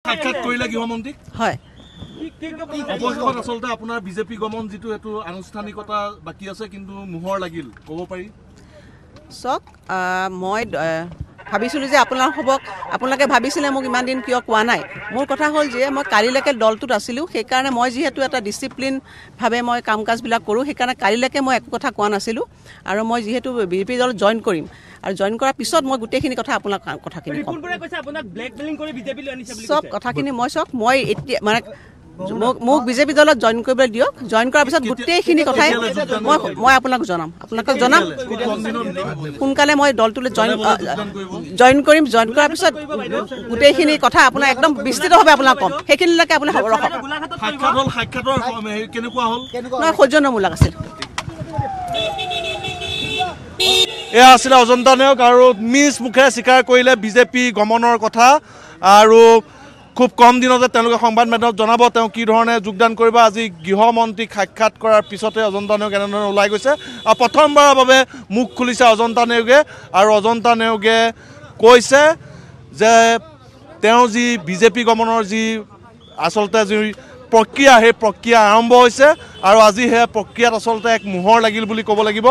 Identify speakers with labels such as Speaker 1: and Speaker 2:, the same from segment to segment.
Speaker 1: সাক্ষাৎ কৰিলে গৃহমন্ত্ৰীক?
Speaker 2: হয়।
Speaker 1: অৱশেষত আচলতে আপোনাৰ বিজেপি গমন যিটো এইটো আনুষ্ঠানিকতা বাকী আছে, কিন্তু মোহৰ লাগিল ক'ব পাৰি।
Speaker 2: চাওক, মই ভাবিছিলোঁ যে আপোনালোকে ভাবিছিলে মোক ইমান দিন কিয় কোৱা নাই। মোৰ কথা হ'ল যে মই কালিলৈকে দলটোত আছিলোঁ, সেইকাৰণে মই যিহেতু এটা ডিচিপ্লিনভাৱে মই কাম কাজবিলাক কৰোঁ, সেইকাৰণে কালিলৈকে মই একো কথা কোৱা নাছিলোঁ। আৰু মই যিহেতু বিজেপি দলত জইন কৰিম আৰু জইন কৰাৰ পিছত মই গোটেইখিনি কথা আপোনাক কথাখিনি ক'ম। চব কথাখিনি মই চাওক, মই এতিয়া মানে মোক বিজেপি দলত জইন কৰিবলৈ দিয়ক। জইন কৰাৰ পিছত গোটেইখিনি কথাই মই আপোনাক জনাম, আপোনালোকক জনাম সোনকালে। মই দলটোলৈ জইন কৰিম, জইন কৰাৰ পিছত গোটেইখিনি কথা আপোনাক একদম বিস্তৃতভাৱে আপোনাক ক'ম। সেইখিনিলৈকে আপুনি খবৰ ৰাখক। নহয়, সৌজন্যমূলক আছিল।
Speaker 1: এয়া আছিলে অজন্তা নেওগ আৰু নিজ মুখেৰে স্বীকাৰ কৰিলে বিজেপি গমনৰ কথা। আৰু খুব কম দিনতে তেওঁলোকে সংবাদ মাধ্যমত জনাব তেওঁ কি ধৰণে যোগদান কৰিব। আজি গৃহমন্ত্ৰীক সাক্ষাৎ কৰাৰ পিছতে অজন্তা নেওগ এনেধৰণে ওলাই গৈছে আৰু প্ৰথমবাৰৰ বাবে মুখ খুলিছে অজন্তা নেওগে। আৰু অজন্তা নেওগে কৈছে যে তেওঁ যি বিজেপি গমনৰ যি আচলতে যি প্ৰক্ৰিয়া, সেই প্ৰক্ৰিয়া আৰম্ভ হৈছে আৰু আজি সেই প্ৰক্ৰিয়াত আচলতে এক মোহৰ লাগিল বুলি ক'ব লাগিব।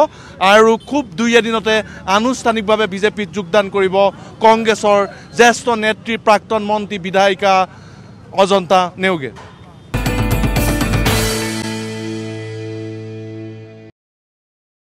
Speaker 1: আৰু খুব দুই এদিনতে আনুষ্ঠানিকভাৱে বিজেপিত যোগদান কৰিব কংগ্ৰেছৰ জ্যেষ্ঠ নেত্ৰী, প্ৰাক্তন মন্ত্ৰী, বিধায়িকা অজন্তা নেওগে।